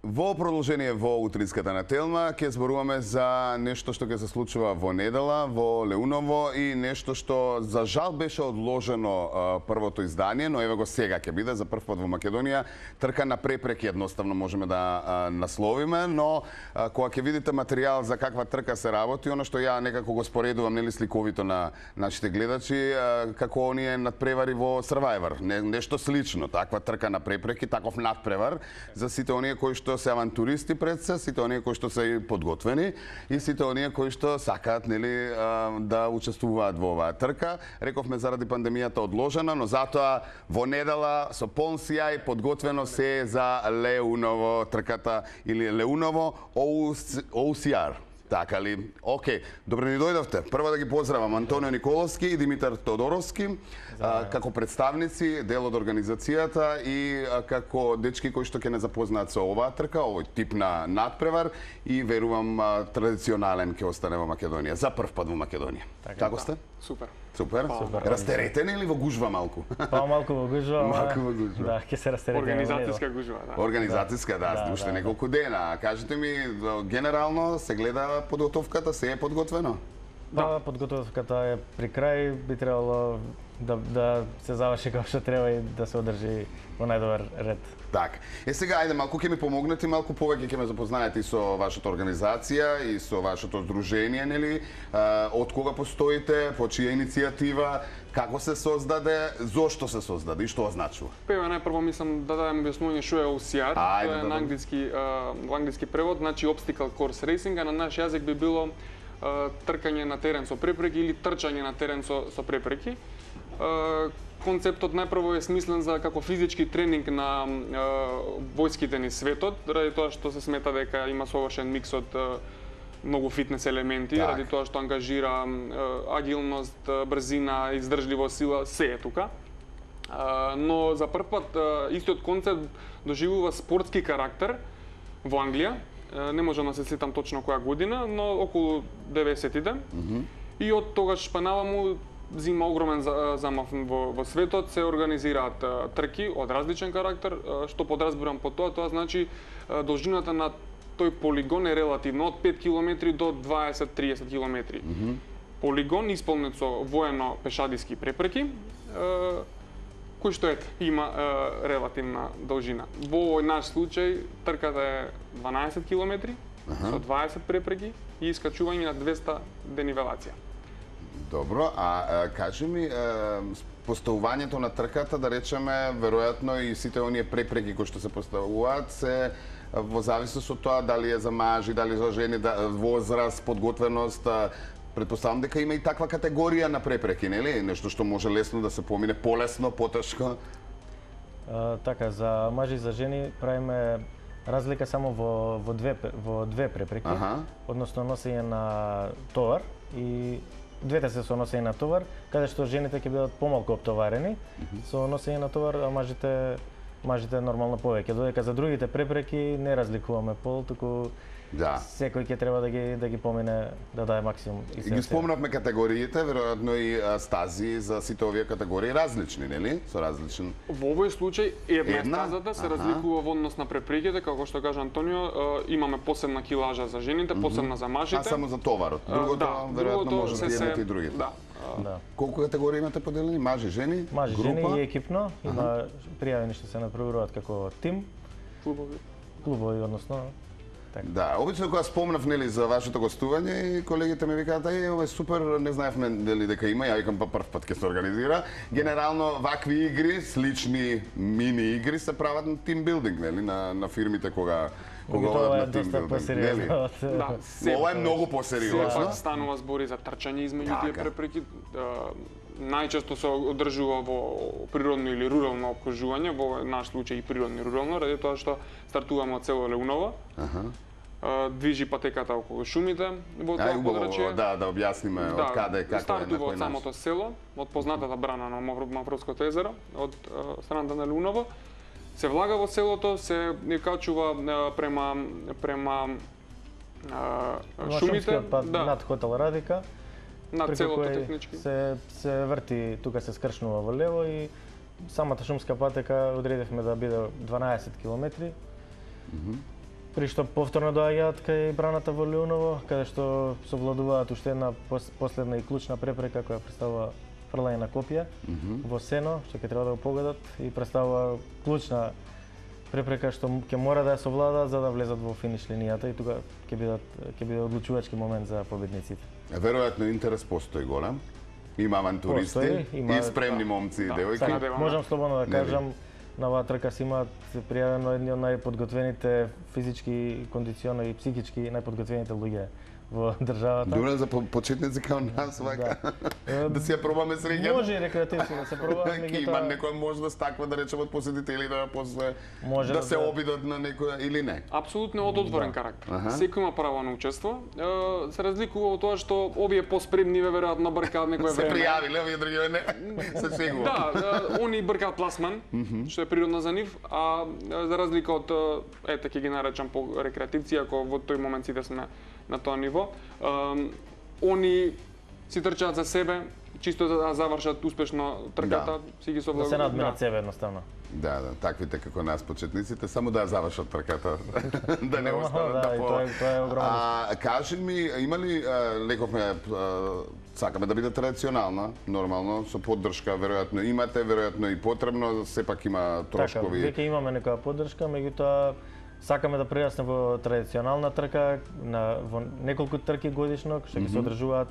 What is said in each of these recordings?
Во продолжение во утринската на Телма ќе зборуваме за нешто што ќе се случува во недела во Леуново и нешто што за жал беше одложено првото издание, но еве го сега ќе биде за прв пат во Македонија трка на препреки, едноставно можеме да насловиме, но кога ќе видите материјал за каква трка се работи, оно што ја некако го споредувам нели сликовито на нашите гледачи, како оние надпревари во Survivor, нешто слично, таква трка на препреки, таков надпревар за сите оние кои што се авантуристи пред се, сите оние кои што се подготвени и сите оние кои што сакаат нели да учествуваат во оваа трка. Рековме заради пандемијата одложена, но затоа во недела со полн сјај подготвено се за Леуново трката или Леуново OCR. Така ли? Океј, добро ни дојдовте. Прво да ги поздравам Антонио Николовски и Димитар Тодоровски како представници, дел од организацијата и како дечки кои што ќе не запознаат со оваа трка, овој тип на надпревар и верувам традиционален ќе остане во Македонија, за прв пат во Македонија. Како сте? Супер. Супер. Растеретени или во гужва малку? Малку во гужва. Малку во гужва. Да, ќе се растеретени. Организацијска гужва, да. Организацијска, да, уште неколку дена. Кажете ми, генерално се гледа подготовката, се е подготвено? Да, подготовката е при крај, би требало да се заврши како што треба и да се одржи во најдобар ред. Так. Сега, ајде, малку ќе ми помогнете, малку повеќе ќе ме запознаете и со вашата организација и со вашето здружение, нели? Од кога постоите, по чија иницијатива, како се создаде, зошто се создаде и што означува? Пева најпрво мислам да дадем објаснување што е OCR, тоа е на англиски превод, значи Obstacle Course Racing, а на наш јазик би било тркање на терен со препреки или трчање на терен со препреки. Концептот најпрво е смислен за како физички тренинг на војските ни светот, ради тоа што се смета дека има совршен микс од многу фитнес елементи, ради тоа што ангажира агилност, брзина, издржливост, сила, се е тука. Но за прв пат истиот концепт доживува спортски карактер во Англија. Не можам да се сетам точно која година, но околу 90-тите. И од тогаш па наваму зима огромен замав во светот, се организираат трки од различен карактер, што подразбирам по тоа, тоа значи должината на тој полигон е релативно од 5 км до 20-30 км. Полигон исполнет со воено-пешадиски препреки, кој што има релативна должина. Во овој наш случај трката е 12 км со 20 препреки и искачување на 200 денивелација. Добро, кажи ми, поставувањето на трката, да речеме, веројатно и сите оние препреки кои што се поставуваат се во зависност од тоа дали е за мажи, дали за жени, возраст, подготвеност. Предпоставам дека има и таква категорија на препреки, нели? Нешто што може лесно да се помине, полесно, потешко. Така, за мажи и за жени правиме разлика само во две препреки, односно носење на товар и двете се со носење на товар, каде што жените ќе бидат помалку оптоварени со носење на товар, а мажите нормално повеќе. Додека за другите препреки не разликуваме пол, туку секој ќе треба да ги помине, да даде максимум. И ги спомнавме категориите, веројатно и стази за сите овие категории различни, нели? Со различен. Во овој случај една стазата се разликува во однос на препреките, како што кажа Антонио, имаме посебна килажа за жените, посебна за мажите. А само за товарот. Другото веројатно може да имате и другите. Да. Колку категории имате поделени? Мажи, жени, мажи, група? жени и екипно. Има пријавени што се надпреваруваат како тим. Клубови, односно. Да, обично кога спомнав нели за вашето гостување и колегите ми викаат ова е супер, не знаевме дали дека има, ја викам па прв пат ќе се организира. Генерално вакви игри, слични мини игри се прават на тимбилдинг, нели, на фирмите кога одат на тимбилдинг. Ова е многу посериозно. Станува збори за трчање измеѓу тие препреки. Најчесто се одржува во природно или рурално опкружување, во наш случај и природно и рурално, ради тоа што стартуваме од село Леуново. Движи патеката околу шумите во тоа подрачје. Да објасниме од каде, како е, на кој начин. Стартува од самото село, од познатата брана на Мавровското езеро, од страната на Леуново. Се влага во селото, се качува према шумите, над хотел Радика. Над целото технички. Се врти, тука се скршнува во лево и самата шумска патека одредивме да биде 12 километри. При што повторно доаѓаат кај браната во Леуново, каде што совладуваат уште една последна и клучна препрека која представува фрлање на копија во сено, што ќе треба да го погодат и представува клучна препрека што ќе мора да ја совладаат за да влезат во финиш линијата и тука ќе биде одлучувачки момент за победниците. Веројатно интерес постои голем. Има авантуристи и спремни момци и девојки. Можам слободно да кажам, на оваа трка си имаат пријавено едни од најподготвените физички, кондициони и психички најподготвените луѓе во државата. Добре за почетници као нас, вака. Да си ја пробаме среќа. Може и рекреативно да се проба, меѓутоа има некој може да стаква да речеме од посетители да после да се обидат на некој или не. Апсолутно од отворен карактер. Секој има право на учество. Се разликува од тоа што овие поспремни веројатно бркаат некое време. Се пријавиле, овие други не. Се сегува. Да, они бркаат пласман, што е природно за нив, а за разлика од ете ќе ги наречам по рекреативци, ако во тој момент сите сме на тоа ниво. Они си трчаат за себе, чисто да завршат успешно трката, си ги совладуваат. Да се надменат себе едноставно. Да, таквите како нас почетниците, само да ја завршат трката, да не останат да по. Тоа е огромно. Кажи ми, има ли лековме сакаме да биде традиционална, нормално, со поддршка, веројатно имате, веројатно и потребно, сепак има трошкови. Така, веќе имаме некоја поддршка, меѓутоа сакаме да прерасне во традиционална трка, во неколку трки годишно, што ќе се одржуваат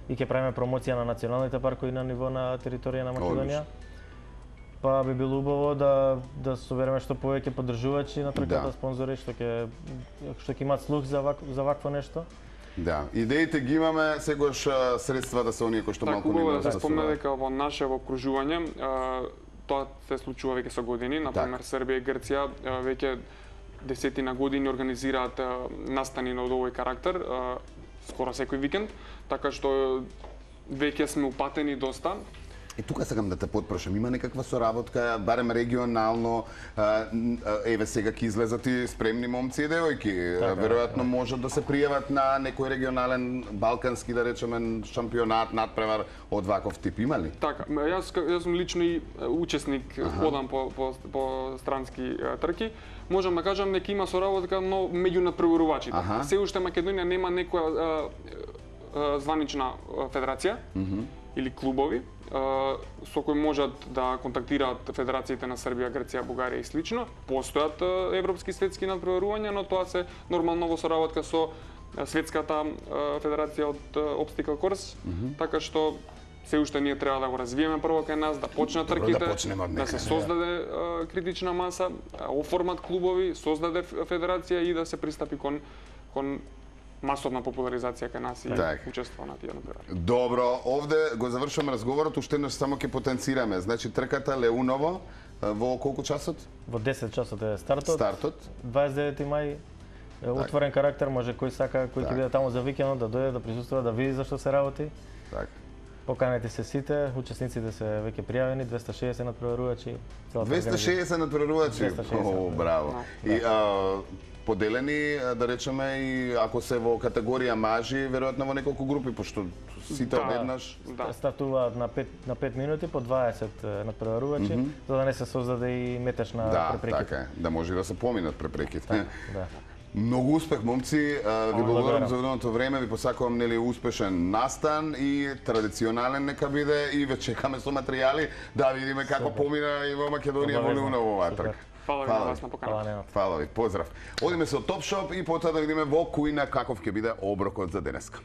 и ќе правиме промоција на националните паркови на ниво на територија на Македонија. Па би било убаво да собереме што повеќе поддржувачи на трката, спонзори што ќе имаат слух за вакво нешто. Да, идеите ги имаме, сегош средствата се оние кои што малку не имаат. Да се спомне дека во наше окружување тоа се случува веќе со години, например Србија и Грција веќе десетина години организираат настани од овој карактер, скоро секој викенд, така што веќе сме упатени доста. И тука сакам да те потпрашам, има некаква соработка, барем регионално, еве сега ќе излезат и спремни момци и девојки, веројатно можат да се пријават на некој регионален балкански, да речеме, шампионат, надпревар од ваков тип, има ли? Така, јас сум лично и учесник, ходам по странски трки. Можам да кажам дека има соработка, но меѓу надпреварувачите. Се уште Македонија нема некоја званична федерација или клубови со кои можат да контактираат федерациите на Србија, Грција, Бугарија и слично. Постојат европски светски надпреварувања, но тоа се нормално во соработка со светската федерација од Obstacle Course, така што се уште ние треба да го развиеме прво кај нас, да почнат трките, да се создаде критична маса, оформат клубови, создаде федерација и да се пристапи кон масовна популаризација кај нас и учество на тие надпревари. Добро, овде го завршуваме разговорот, уште еднаш само ќе потенцираме. Значи трката Леуново во колку часот? Во 10 часот е стартот. Стартот. 29 мај отворен карактер, може кој сака, кој ќе биде таму за викендот да дојде да присуствува, да види зашто се работи. Така. Поканете се сите, учесниците се веќе пријавени, 260 надпреварувачи. 260 надпреварувачи? О, браво. И поделени, да речеме, и ако се во категорија мажи, веројатно во неколку групи, пошто сите одеднаш стартуваат на 5 минути по 20 надпреварувачи, за да не се создаде и метешна препрека. Да, така е, да може да се поминат препреките. Многу успех, момци, ви благодарам за одреденото време, ви посакувам нели успешен настан и традиционален нека биде и ве чекаме со материјали да видиме како помина и во Македонија во Леуново оваа трка. Фала ви на вас на поканата. Фала ви, поздрав. Одиме со Топшоп и потоа да видиме во кујна каков ќе биде оброкот за денеска.